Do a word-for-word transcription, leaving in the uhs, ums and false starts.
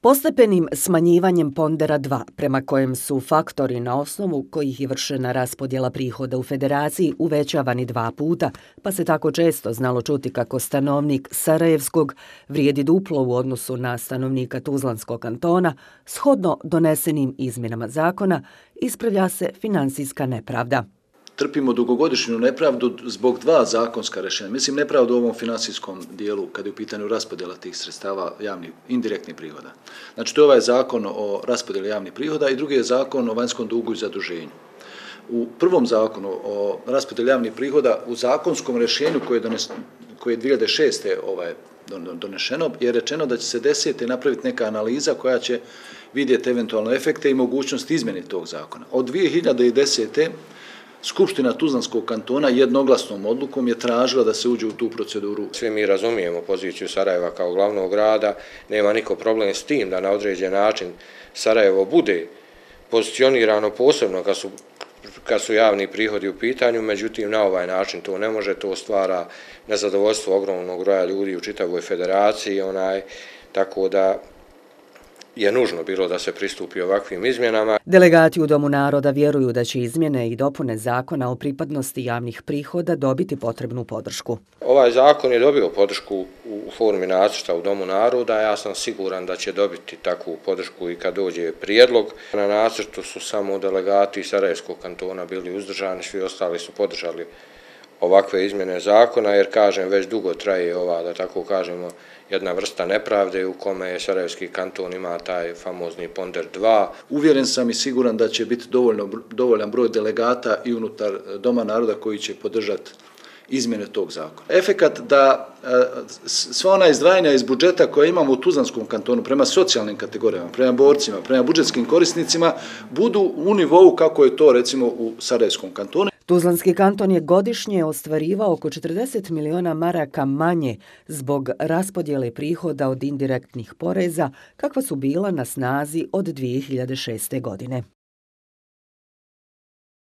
Postepenim smanjivanjem pondera dva, prema kojem su faktori na osnovu kojih je vršena raspodjela prihoda u federaciji uvećavani dva puta, pa se tako često znalo čuti kako stanovnik Sarajevskog vrijedi duplo u odnosu na stanovnika Tuzlanskog kantona, shodno donesenim izmjenama zakona, ispravlja se finansijska nepravda. Trpimo dugogodišnju nepravdu zbog dva zakonska rješenja. Mislim, nepravdu u ovom finansijskom dijelu, kad je u pitanju raspodjela tih sredstava javnih, indirektnih prihoda. Znači, to je ovaj zakon o raspodjeli javnih prihoda i drugi je zakon o vanjskom dugu i zaduženju. U prvom zakonu o raspodjeli javnih prihoda, u zakonskom rješenju koje je, dones, koje je dvije hiljade šeste ovaj, donešeno, je rečeno da će se desete napraviti neka analiza koja će vidjeti eventualno efekte i mogućnost izmjene tog zakona. Od dvije hiljade desete. Skupština Tuzlanskog kantona jednoglasnom odlukom je tražila da se uđe u tu proceduru. Svi mi razumijemo poziciju Sarajeva kao glavnog grada, nema niko problem s tim da na određen način Sarajevo bude pozicionirano posebno kad su, kad su javni prihodi u pitanju, međutim na ovaj način to ne može, to stvara nezadovoljstvo ogromnog broja ljudi u čitavoj federaciji, onaj, tako da je nužno bilo da se pristupi ovakvim izmjenama. Delegati u Domu naroda vjeruju da će izmjene i dopune zakona o pripadnosti javnih prihoda dobiti potrebnu podršku. Ovaj zakon je dobio podršku u formi nacrta u Domu naroda, ja sam siguran da će dobiti takvu podršku i kad dođe prijedlog. Na nacrtu su samo delegati Sarajevskog kantona bili uzdržani, svi ostali su podržali ovakve izmjene zakona, jer kažem već dugo traje ova, da tako kažemo, jedna vrsta nepravde u kome je Sarajevski kanton ima taj famozni ponder dva. Uvjeren sam i siguran da će biti dovoljno, dovoljan broj delegata i unutar Doma naroda koji će podržati izmjene tog zakona. Efekat da sva ona izdvajanja iz budžeta koje imamo u Tuzlanskom kantonu prema socijalnim kategorijama, prema borcima, prema budžetskim korisnicima budu u nivou kako je to recimo u Sarajevskom kantonu. Tuzlanski kanton je godišnje ostvarivao oko četrdeset miliona maraka manje zbog raspodjele prihoda od indirektnih poreza kakva su bila na snazi od dvije hiljade šeste. godine.